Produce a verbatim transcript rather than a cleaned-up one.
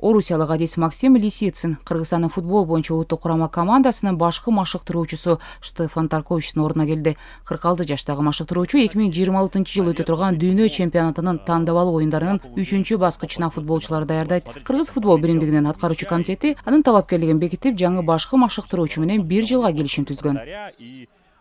Орусиялык адис Максим Лисицын Кыргызстандын футбол боюнча улуттук курама командасынын башкы машыктыруучусу Штефан Тарковичтин ордуна келди. кырк алты жаштагы машыктыруучу эки миң жыйырма алтынчы жылы өтө турган дүйнө чемпионатынын тандабалуу оюндарынын үчүнчү баскычына футболчуларды даярдайт. Кыргыз футбол биримдигинин аткаруучу комитети анын талапкерлигин бекитип, жаңы башкы машыктыруучу менен бир жылга келишим түзгөн.